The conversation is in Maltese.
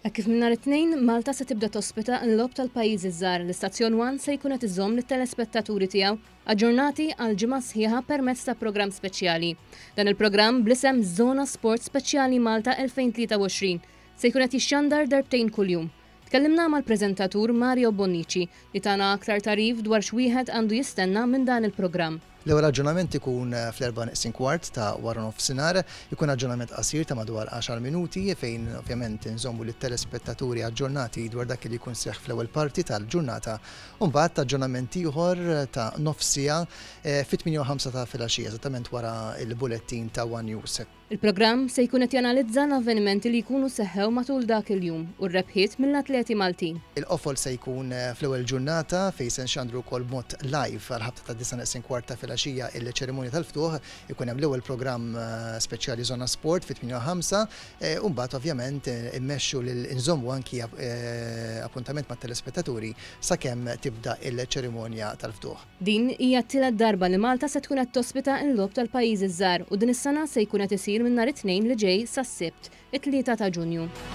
Hekk kif minn nhar it-Tnejn, Malta se tibda tospita l-Logħob tal-Pajjiżi ż-Żgħar, l-istazzjon One se jkun qed iżomm lit-telespettaturi tiegħu aġġornati għal ġimgħa sħiħa permezz ta' programm speċjali. Dan il-programm bl-isem Żona Sport Speċjali Malta 2023 se jkun qed jixxandar darbtejn kuljum. Tkellimna mal-preżentatur Mario Bonnici li tana aktar tagħrif dwar x'wieħed għandu jistenna minn dan il-programm. L-ewwel aġġornament ikun fl-erbgħa neqsin kwart ta' waranofsinhar. Ikun aġġornament qasir ta' madwar għaxar minuti fejn ovvjament inżommu lit-telespettaturi aġġornati dwar dak li jkun seħħ fl-ewwel parti tal-ġurnata u mbagħad aġġornament ieħor ta' nofs siegħa fit-tmienja u ħamsa ta' filgħaxija eżattament wara l-bulettin ta' one News. Il-programm se jkun qed janalizza l-avvenimenti li jkunu seħħew matul dak il-jum u r-rebħiet mill-atleti Maltin. Il-qofol se jkun fl-ewwel ġurnata fejn se nxandru wkoll b'mod live għall-ħabta tad-disgħa neqsin kwart ta' filgħaxija il-ċerimonja tal-ftuħ. Ikun hemm l-ewwel programm speċjali Żona Sport fit-tmienja u ħamsa u mbagħad ovvjament immexxu lil inżommu anki appuntament mat-telespettaturi sakemm tibda l-ċerimonja tal-ftuħ. Din hija t-tielet darba li Malta se tkun qed tospita l-Logħob tal-Pajjiżi ż-Żgħar u din is-sena se jkun qed isir minn nhar it-Tnejn li ġej sas-Sibt, it-Tlieta ta' Ġunju.